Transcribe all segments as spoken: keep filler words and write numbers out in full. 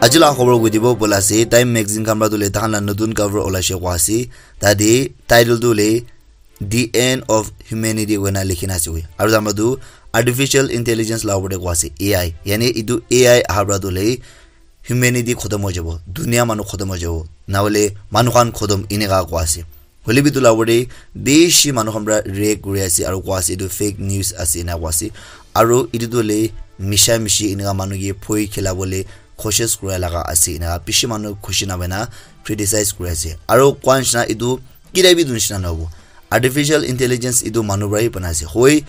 Aji la khobor koi dibo bola ase, Time Magazine khan pra tu le tahan la notun cover olaishe kwa ase. Tade title tu le The End of Humanity koina likhina ase koi. Aru tama tu artificial intelligence la opor te kwa ase, A I. Yani etu A I aha pra tu le humanity khotom hoi jabo, dunia manu khotom hoi jabo, nahole manu khan khotom eneka kwa ase. Hoile bi etu la opor te bishi manu khan pra react kuri ase aru kwa ase etu fake news ase ena kwa ase. Aru etu tu le misha mishi eneka manu ke phoi khila bole koshish kura laga ase eneka bishi manu khushi na hoina criticize kuri ase. Aru kwa nishina etu kida bi etu nishina nahobo. Artificial intelligence etu manu pra hi bana ase. Hoi,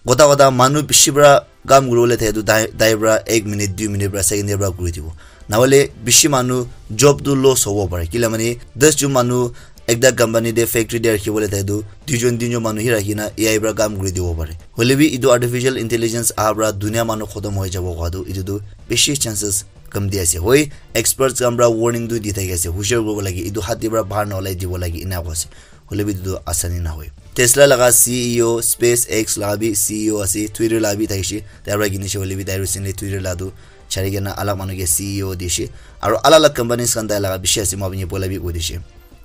kota kota manu bishi pra kam kuribole thake tu tai, tai pra ek minute, dui minute pra, second pra kuri dibo. Nahole bishi manu job tu loss hobo pare. Kila mane, das jon manu ekta company te, factory te rakhibole thake tu, duijon, tinjon manu hi rakhina A I pra kam kuri dibo pare. Hoile bi etu artificial intelligence aha pra dunia manu khotom hoi jabo koa tu, etu tu bishi chances kam di ase. Hoi, experts khan pra warning tu di thaki ase, hushar kuribo lage, etu hat te pra bahar na olai dibo lage, ena koa ase. Hoile bi etu tu asani nahoi. Tesla laga C E O, SpaceX laga bi C E O ase, Twitter laga bi thakishe. Tai pra kinishe hoile bi tai recently Twitter laga tu chari kena alak manu ke C E O dishe. Aru alak alak companies khan tai laga bishi ase, moi apni poila bi koi dishe.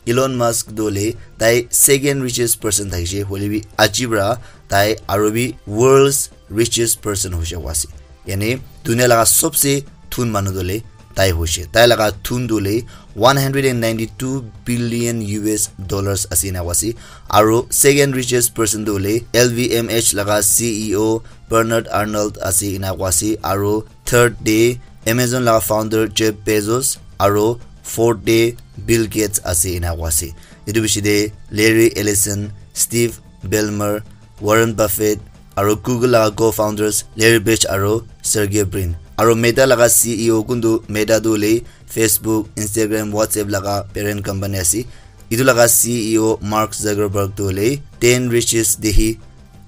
Elon Musk tu hoile tai second richest person thakishe, hoile bi aji pra tai aru bi world's richest person hoishe koa ase. Yani dunia laga sobse thun manu tu hoile tai hoishe. Tai laga thun tu hoile one hundred and ninety-two billion U S dollars ase ena koa ase. Aru second richest person tu hoile L V M H laga C E O Bernard Arnault ase ena koa ase. Aru third te Amazon laga founder Jeff Bezos, aru fourth te Bill Gates ase ena koa ase. Etu bishi te Larry Ellison, Steve Ballmer, Warren Buffett, aru Google laga co-founders Larry Page aru Sergey Brin. Aru Meta laga C E O kuntu, Meta tu hoile Facebook, Instagram, WhatsApp laga parent company ase. Etu laga C E O Mark Zuckerberg tu hoile ten richest te hi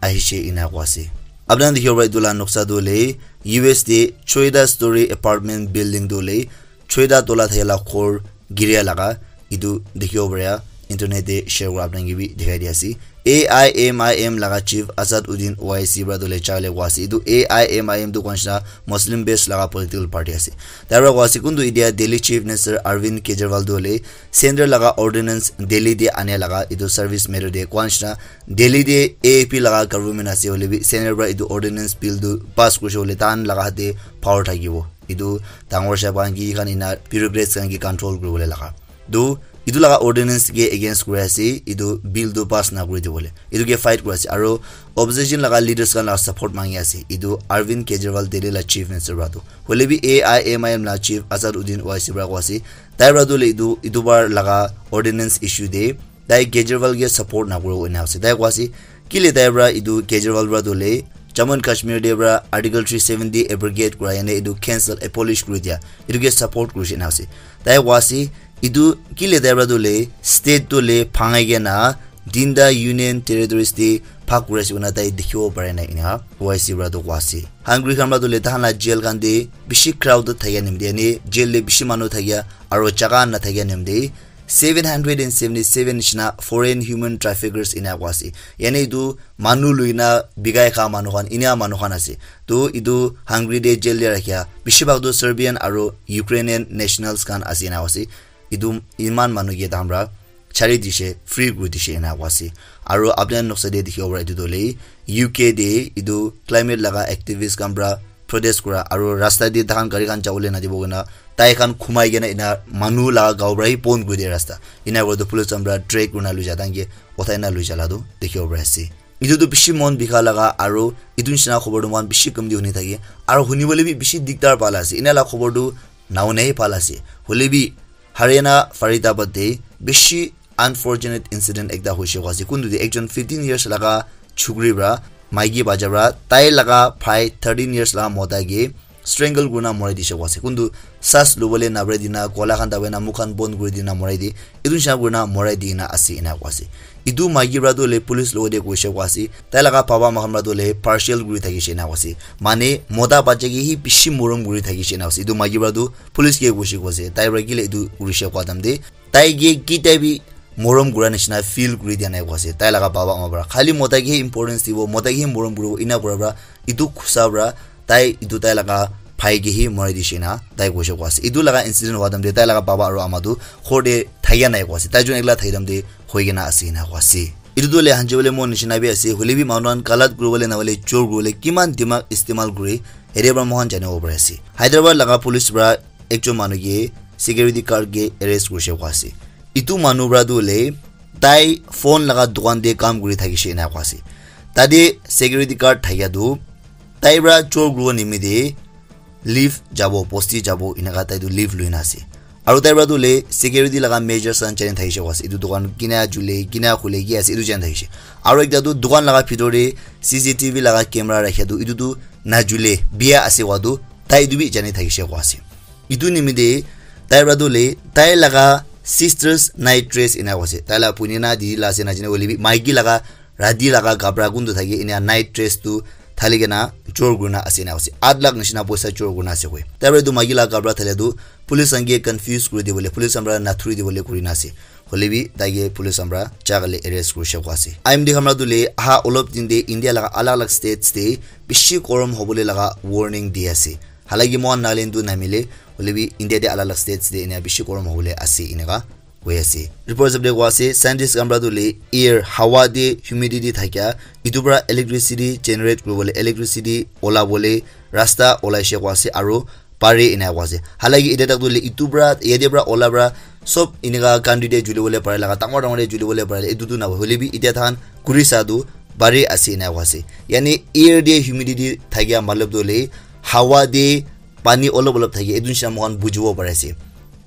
ahishe ena koa ase. Apni khan dikhibo para etu la noksa tu hoile U S te choita story apartment building tu hoile choita tola thakila ghor giria laga etu dikhibo para, internet te share kura apni khan ke bi dikhai di ase. A I M I M laga chief Asad Uddin Owaisi para tu hoile chale koa ase. Etu A I M I M tu koa nishina Muslim based laga political party ase. Tai para koa ase kuntu etia Delhi chief minister Arvind Kejriwal tu hoile centre laga ordinance Delhi te ane laga etu service matter te koa nishina Delhi te A A P laga government ase hoile bi centre para etu ordinance bill tu pass kurishe hoile tahan laga hath te power thakibo. Etu dangor sahab khan ki khan ena bureaucrats khan ke control kuribole laga. Tu etu laga ordinance ke against kuri ase, etu bill tu pass na kuri dibole. Etu ke fight kuri ase. Aru opposition laga leaders khan laga support mangi ase. Etu Arvind Kejriwal Delhi la chief minister para tu. Hoile bi A I M I M la chief Asad Uddin Owaisi para koa ase. Tai para tu hoile etu, etu bar laga ordinance issue te tai Kejriwal ke support na kuribo ena ase. Tai koa ase, kile tai para etu Kejriwal para tu hoile Jammu and Kashmir te para Article three seventy abrogate kura yane etu cancel, abolish kuri dia. Etu ke support kurishe ena ase. Tai koa ase, etu kile tai para tu hoile state tu hoile bhangai kena tinta union territories te bhag kuri ase koina tai dikhibo pare na ena Owaisi para tu koa ase. Hungary khan para tu hoile tahan la jail khan te bishi crowd thakia nimite, yane jail te bishi manu thakia aru jaga na thakia nimite seven hundred and seventy-seven nishina foreign human traffickers ena koa ase. Yani etu manu lui na bikai kha manu khan, ena manu khan ase. Tu etu Hungary te jail te rakhia bishi bhag tu Serbian aru Ukrainian nationals khan ase ena koa ase. Etu iman manu ke tahan para chari dishe, free kuri dishe ena koa ase. Aru apni khan noksa te dikhibo para etu tu hoile U K te etu climate laga activist khan para protest kura aru rasta te tahan gari khan jabole na dibo koina tai khan khumai kena ena manu laga gao para hi bon kuri dia rasta. Ena kura tu police khan para drag kurina lui ja, tahan ke uthai na lui ja la tu dikhibo pari ase. Etu tu bishi mon bikha laga aru etu nishina khobor tu moikhan bishi kam te huni thake aru huni bole bi bishi dikdar pala ase. Ena la khobor tu nahuna hi pala ase. Hoile bi Haryana Faridabad te bishi unfortunate incident ekta hoishe koa ase. Kuntu te ekjon fifteen years laga chukri para, maiki bacha para, tai laga bhai thirteen years laga mota ke strangle kurina morai dishe koa ase. Kuntu saas lobole naparai dina, gola khan dabai na, mukh khan bon kuri dina morai di. Etu nishina kurina morai dina ase ena koa ase. Etu maiki para tu hoile police logote koishe koa ase. Tai laga baba ama khan para tu hoile partial kuri thakishe ena koa ase. Mane mota bacha ke hi bishi morom kuri thakishe ena koa ase. Etu maiki para tu police ke koishe koa ase. Tai para kile etu kurishe koa time te tai ke kitia bi morom kura nishina feel kuri dia nai koa ase. Tai laga baba ama para khali mota ke hi importance dibo, mota ke hi morom kuribo, ena kura para etu khusa para tai etu tai laga bhai ke hi morai dishe na tai koise koa ase. Etu laga incident howa time te tai laga baba aru ama tu ghor te thakia nai koa ase. Tai jun ekla thaki time te hoi kena ase ena koa ase. Etu tu le hanji bole mon nishina bi ase. Hoile bi manu khan galat kuri bole na hoile chor kuri bole kiman dimag istemal kuri, ete para moikhan janibo pari ase. Hyderabad laga police para ekjon manu ke security guard ke arrest kurise koa ase. Etu manu para tu hoile tai phone laga dukan te kam kuri thakishe ena koa ase. Tate security guard thakia tu tai para chor kuribo nimite leave jabo, bosti jabo, eneka tai tu leave lui na ase. Aru tai para tu hoile security laga measures khan jani thakishe koa ase. Etu dukan kina jule, kina khule ki ase, etu jani thakishe. Aru ekta tu dukan laga bhitor te C C T V laga camera rakhia tu, etu tu najule, bia ase koa tu, tai etu bi jani thakishe koa ase. Etu nimite tai para tu hoile tai laga sister's night dress ena koa ase. Tai laga bhuini na didi la ase najane hoile bi maiki laga rati laga kapra kuntu thake ena night dress tu thali kena chor kurina ase ena koa ase. Aat lakh nishina poisa chor kurina ase koi. Tai para etu maiki laga kapra thalia tu police khan ke confuse kuri dibole, police khan para nathuri dibole kurina ase. Hoile bi tai ke police khan para jaga le arrest kurise koa ase. I M D khan para tu hoile aha olop din te India laga alag alag states te bishi gorom hobole laga warning di ase. Halaki moikhan Nagaland tu namile, hoile bi India te alag alag states te ena bishi gorom hobole ase eneka koi ase. Report hisab te koa ase, scientist khan para tu hoile air, hawa te humidity thakia, etu para electricity generate kuribole, electricity ola bole rasta olaishe koa ase, aru pare ena koa ase. Halaki etia tak tu hoile etu para, yate para ola para sob eneka country te juli bole pare laga, dangor dangor te juli bole pare, etu tu na hoile bi etia thakan kuri sa tu pare ase ena koa ase. Yani air te humidity thakia matlab tu hoile hawa te pani olop olop thake, etu nishina moikhan bujibo pari ase.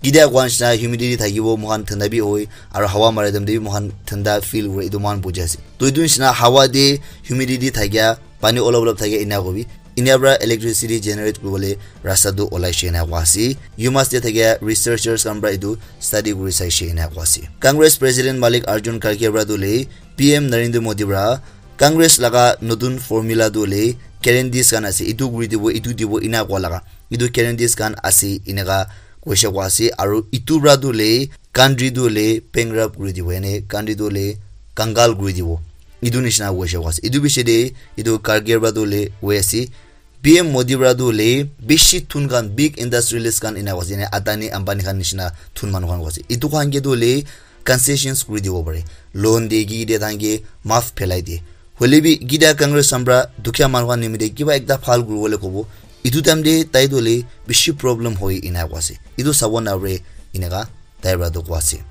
Kitia koa nishina humidity thakibo, moikhan thanda bi hoi, aru hawa mara time te bi moikhan thanda feel kure, etu moikhan buji ase. To etu nishina hawa te humidity thakia, pani olop olop thakia ena kobi, ena para electricity generate kuribole rasta tu olaishe ena koa ase. U Mass te thakia researchers khan para etu study kuri saishe ena koa ase. Congress President Mallikarjun Kharge para tu hoile P M Narendra Modi para Congress laga notun formula tu hoile guarantees khan ase, etu kuri dibo, etu dibo ena koa laga. Etu guarantees khan ase eneka koise koa ase, aru etu para tu hoile country tu hoile bankrupt kuri dibo, ene country tu hoile kangal kuri dibo. Etu nishina koise koa ase. Etu piche te etu Kharge para tu hoile hoi ase, P M Modi para tu hoile bishi thun khan, big industrialist khan ena koa ase, ene Adani, Ambani khan nishina thun manu khan koa ase. Etu khan ke tu hoile concessions kuri dibo pare. Loan de ki de than ke maaf phelai de. Hoile bi kitia Congress khan para dukhia manu khan nimite kiba ekta bhal kuribole kobo, etu time te tai tu hoile bishi problem hoi ena koa ase. Etu sabo na pare eneka tai para tu koa ase.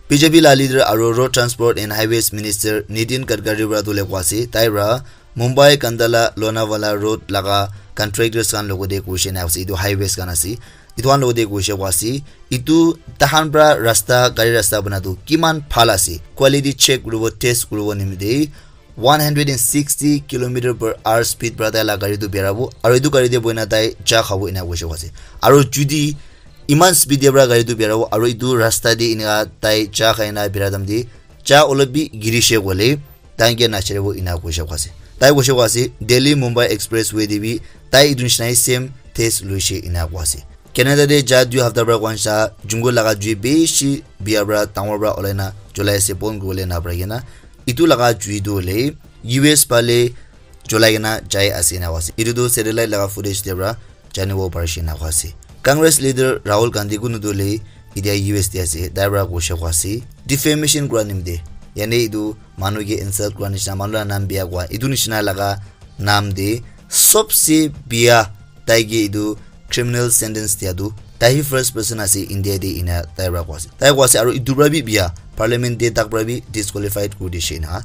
B J P la leader aru Road Transport and Highways Minister Nitin Gadkari para tu hoile koa ase, tai para Mumbai Khandala Lonavala Road laga contractors khan logote koise na ase, etu highways khan ase, etu khan logote koise koa ase, etu tahan para rasta, gari rasta bana tu kiman bhal ase, quality check kuribo, test kuribo nimite one hundred and sixty kilometer per hour speed para tai la gari tu berabo, aru etu gari te boina tai cha khabo ena koise koa ase. Aru judi iman speed te para gari tu berabo, aru etu rasta te eneka tai cha khai na bera time te cha olop bi girise koile, tai ke nacharibo ena koise koa ase. Tai koise koa ase, Delhi Mumbai Expressway te bi tai etu nishina same test loise ena koa ase. Canada te ja dui hafta para koa nishina jungle laga jui bishi bia para dangor para olai na cholai ase, bon kuribole na parai kena. Etu laga jui tu hoile U S phale cholai kena jai ase ena koa ase. Etu tu satellite laga footage te para janibo parishe ena koa ase. Congress leader Rahul Gandhi kunu tu hoile etia U S te ase, tai para koise koa ase, defamation kura nimite, yani etu manu ke insult kura nishina, manu la naam bia koa, etu nishina laga naam te sobse bia tai ke etu criminal sentence dia tu tai hi first person ase India te ena tai para koa ase. Tai koa ase aru etu para bi bia parliament te tak para bi disqualified kuri dishe ena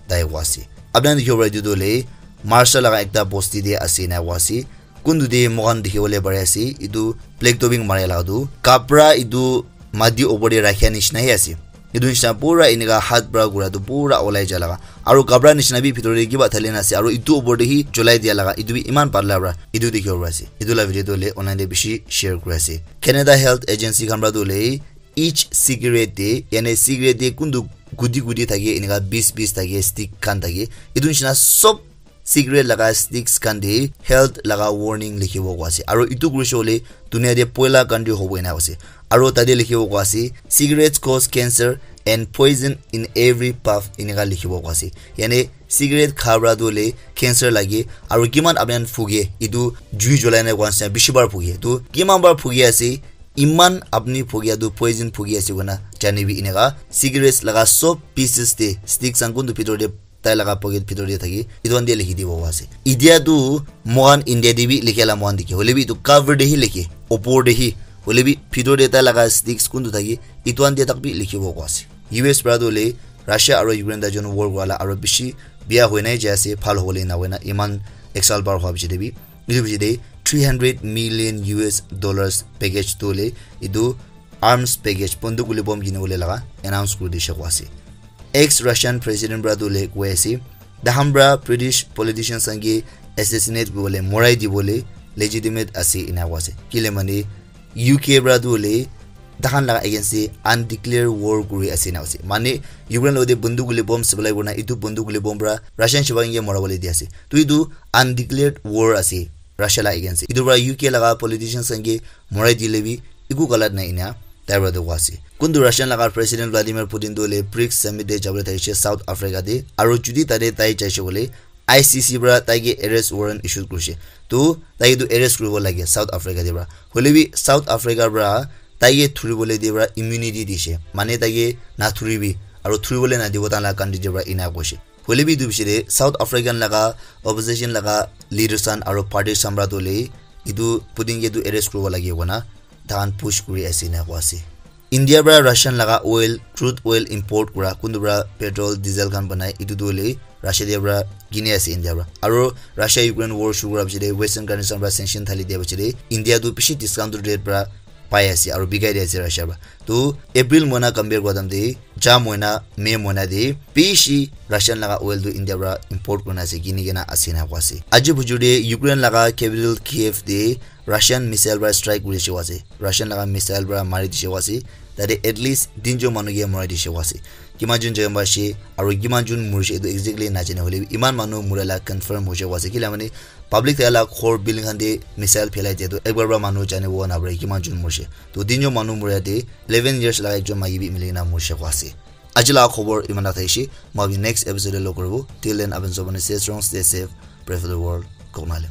tai koa ase. Apni khan dikhibo para etu tu hoile Maharashtra laga ekta bosti te ase ena koa ase. Kuntu te moikhan dikhi bole pari ase, etu black topping mari laga tu kapra etu mati opor te rakhia nishina he ase. Etu nishina pura enika hath para kura tu pura olai ja laga. Aru kapra nishina bi bhitor te kiba thali na ase. Aru etu opor te hi cholai dia laga. Etu bi eman patla para etu dikhi bo pari ase. Etu la video tu hoile online te bishi share kuri ase. Canada Health Agency khan para tu hoile each cigarette te, yani cigarette te kuntu gudi gudi thake, enika bis bis thake, stick khan thake. Etu nishina sob cigarette laga sticks khan te health laga warning likhibo koa ase. Aru etu kurishe hoile dunia te poila country hobo ena koa ase. Aru tate likhibo koa ase, "Cigarettes cause cancer, and poison in every puff, eneka likhibo koa ase. Yane cigarette kha pra tu hoile cancer lage, aru kiman apni khan phuge, etu jui julai na koa nishina bishi bar phuge. Tu kiman bar phuge ase, iman apni phugia tu poison phugi ase koina janibi eneka. Cigarettes laga sob pieces te, sticks khan kuntu bhitor te, tai laga pocket bhitor te thaki, etu khan te likhi dibo koa ase. Etia tu moikhan India te bi likhia la moikhan dikhi, hoile bi etu cover te hi likhe, opor te hi, hoile bi bhitor te tai laga sticks kuntu thaki, etu khan te tak bi likhibo koa ase. U S pra tu hoile Russia aru Ukraine tai jon war kura la aru bishi bia hoi nai jai ase, bhal hobole na hoi na, iman ek saal par hua bishi te bi. Etu bishi te three hundred million U S dollars package tu hoile etu arms package, bunduk guli bomb kini bole laga announce kuri dishe koa ase. Ex Russian president pra tu hoile koi ase, "Tahan pra British politicians khan ke assassinate kuri bole, morai di bole legitimate ase," ena koa ase. Kile mane U K pra tu hoile tahan laga against te undeclared war kuri ase na ase. Mane Ukraine lo te bunduk guli bomb supply kurina, etu bunduk guli bomb pra Russian shipa khan ke mora bole di ase. Tu etu undeclared war ase Russia la against te. Etu pra U K laga politicians khan ke morai dile bi eku galat nai ena tai pra tu koa ase. Kuntu Russian laga President Vladimir Putin tu hoile brics summit te jabole thakishe South Africa te. Aru judi tate tai jaishe koile I C C pra tai ke arrest warrant issue kurishe. Tu tai ke tu arrest kuribo lage South Africa te pra. Hoile bi South Africa pra tai ke thuribole te pra immunity dishe. Mane tai ke nathuribi aru thuribole nadibo tai la country te pra ena koishe. Hoile bi etu bishi te South African laga opposition laga leaders khan aru parties khan pra tu hoile etu Putin ke tu arrest kuribo lage koina tahan push kuri ase ena koa ase. India pra Russian laga oil, crude oil import kura, kuntu pra petrol, diesel khan banai, etu tu hoile Russia te pra kini ase India pra. Aru Russia Ukraine war shuru kura bishi te Western countries khan pra sanction thali dia bishi te India tu bishi discounted rate pra pai ase aru bikai di ase Russia pra. Tu April moina compare kura time te, ja moina, May moina te bishi Russian laga oil tu India pra import kurina ase, kini kena ase na koa ase. Aji bujur te Ukraine laga capital Kiev te Russian missile pra strike kuri dishe koa ase. Russian laga missile pra mari dishe koa ase. Tate at least tinjon manu ke morai dishe koa ase. Kiman jon jai pa ase aru kiman jon murishe etu exactly najane, hoile bi iman manu mura la confirm hoishe koa ase. Kila mane public thaka la ghor building khan te missile phelai dia tu ekbar pra manu janibo na pare kiman jon murishe. Tu tinjon manu muria te eleven years laga ekjon maiki bi mili kena murishe koa ase. Aji laga khobor iman tak thakishe, moi apni next episode te log kuribo. Till then, apni sob manu stay strong, stay safe, pray for the world. Kok Mahalem.